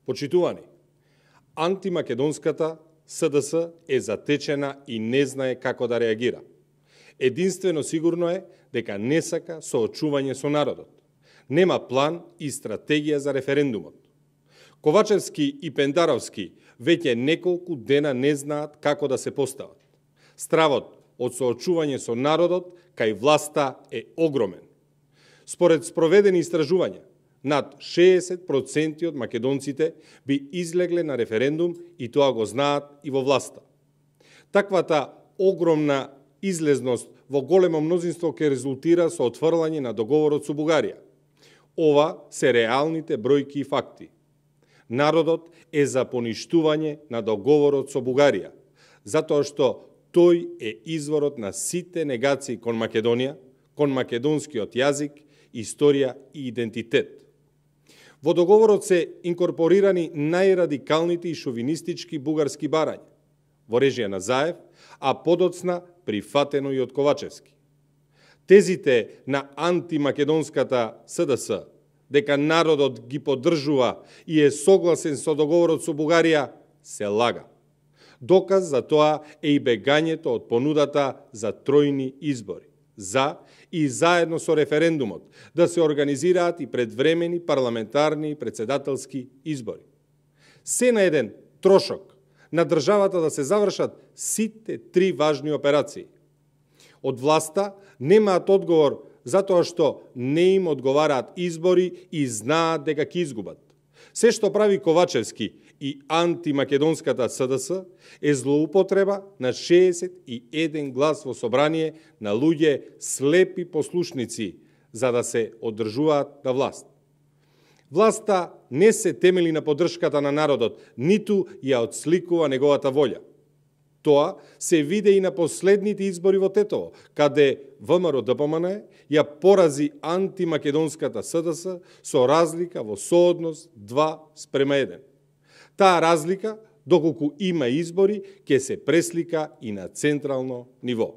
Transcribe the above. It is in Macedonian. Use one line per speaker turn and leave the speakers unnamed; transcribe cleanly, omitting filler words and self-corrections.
Почитувани, антимакедонската СДС е затечена и не знае како да реагира. Единствено сигурно е дека не сака соочување со народот. Нема план и стратегија за референдумот. Ковачевски и Пендаровски веќе неколку дена не знаат како да се постават. Стравот од соочување со народот кај власта е огромен. Според спроведени истражувања, над 60% од македонците би излегле на референдум и тоа го знаат и во власта. Таквата огромна излезност во големо мнозинство ќе резултира со отфрлање на договорот со Бугарија. Ова се реалните бројки и факти. Народот е за поништување на договорот со Бугарија, затоа што тој е изворот на сите негации кон Македонија, кон македонскиот јазик, историја и идентитет. Во договорот се инкорпорирани најрадикалните и шовинистички бугарски барања, во режија на Заев, а подоцна прифатено и од Ковачевски. Тезите на антимакедонската СДС, дека народот ги поддржува и е согласен со договорот со Бугарија, се лага. Доказ за тоа е и бегањето од понудата за тројни избори, за и заедно со референдумот, да се организираат и предвремени парламентарни и председателски избори. Се на еден трошок на државата да се завршат сите три важни операции. Од власта немаат одговор затоа што не им одговараат избори и знаат дека ќе изгубат. Се што прави Ковачевски и антимакедонската СДС е злоупотреба на 61 глас во собрание на луѓе слепи послушници за да се одржуваат на власт. Власта не се темели на поддршката на народот, ниту ја отсликува неговата волја. Тоа се виде и на последните избори во Тетово, каде ВМРО-ДПМН ја порази антимакедонската СДС со разлика во сооднос 2:1. Таа разлика, доколку има избори, ќе се преслика и на централно ниво.